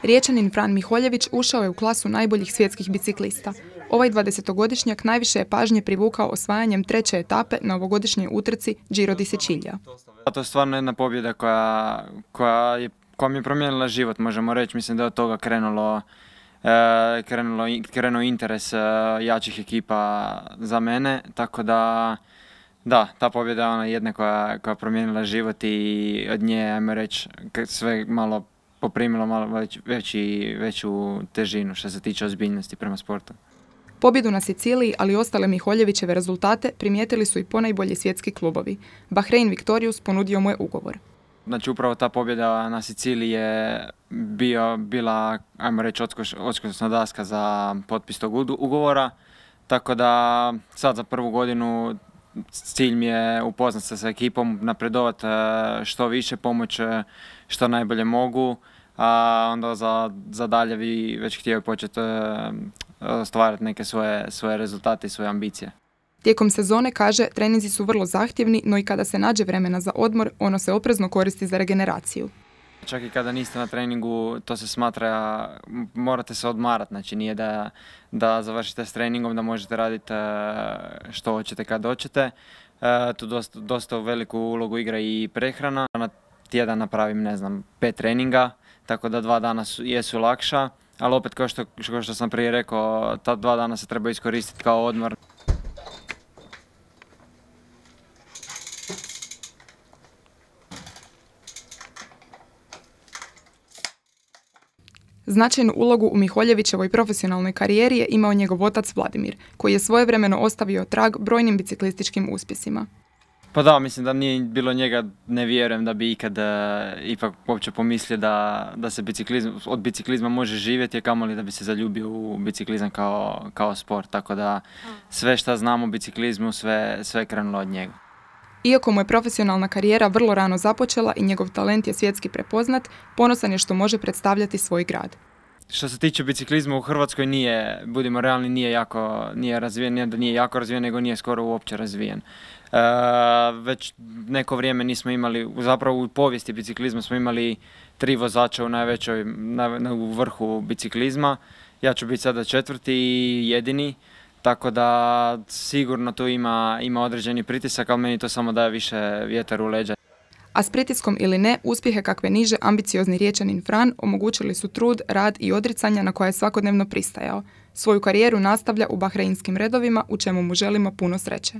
Riječanin Fran Miholjević ušao je u klasu najboljih svjetskih biciklista. Ovaj 20-godišnjak najviše je pažnje privukao osvajanjem 3. etape na ovogodišnjoj utrci Giro di Sicilia. To je stvarno jedna pobjeda koja mi je promijenila život, možemo reći. Mislim da je od toga krenuo interes jačih ekipa za mene, tako da ta pobjeda je ona jedna koja je promijenila život i od nje, ajmo reći, sve malo poprimilo malo veću težinu što se tiče ozbiljnosti prema sportu. Pobjedu na Siciliji, ali i ostale Miholjevićeve rezultate primijetili su i ponajbolji svjetski klubovi. Bahrein Victorious ponudio mu je ugovor. Znači upravo ta pobjeda na Siciliji je bila, ajmo reći, odskočna daska za potpis tog ugovora, tako da sad za prvu godinu cilj mi je upoznat se sa ekipom, napredovat što više, pomoć što najbolje mogu, a onda za dalje vi već htio početi stvarati neke svoje rezultate i svoje ambicije. Tijekom sezone, kaže, treninzi su vrlo zahtjevni, no i kada se nađe vremena za odmor, ono se oprezno koristi za regeneraciju. Čak i kada niste na treningu, to se smatra, morate se odmarati, znači nije da završite s treningom, da možete raditi što hoćete kad hoćete. Tu dosta veliku ulogu igra i prehrana. Na tjedan napravim, 5 treninga, tako da 2 dana jesu lakša, ali opet kao što sam prije rekao, ta 2 dana se treba iskoristiti kao odmor. Značajnu ulogu u Miholjevićevoj profesionalnoj karijeri je imao njegov otac Vladimir, koji je svojevremeno ostavio trag brojnim biciklističkim uspjesima. Pa da, mislim da nije bilo njega, ne vjerujem da bi ikad ipak uopće pomislio da se od biciklizma može živjeti, a kamoli da bi se zaljubio u biciklizam kao sport. Tako da sve što znam o biciklizmu, sve je krenulo od njega. Iako mu je profesionalna karijera vrlo rano započela i njegov talent je svjetski prepoznat, ponosan je što može predstavljati svoj grad. Što se tiče biciklizma u Hrvatskoj budimo realni, nije razvijen, ne da nije jako razvijen, nego nije skoro uopće razvijen. Već neko vrijeme nismo imali, zapravo u povijesti biciklizma smo imali 3 vozača u vrhu biciklizma. Ja ću biti sada 4. i jedini. Tako da sigurno tu ima određeni pritisak, ali meni to samo daje više vjetar u leđa. A s pritiskom ili ne, uspjehe kakve niže ambiciozni Riječanin Fran omogućili su trud, rad i odricanja na koje je svakodnevno pristajao. Svoju karijeru nastavlja u bahreinskim redovima, u čemu mu želimo puno sreće.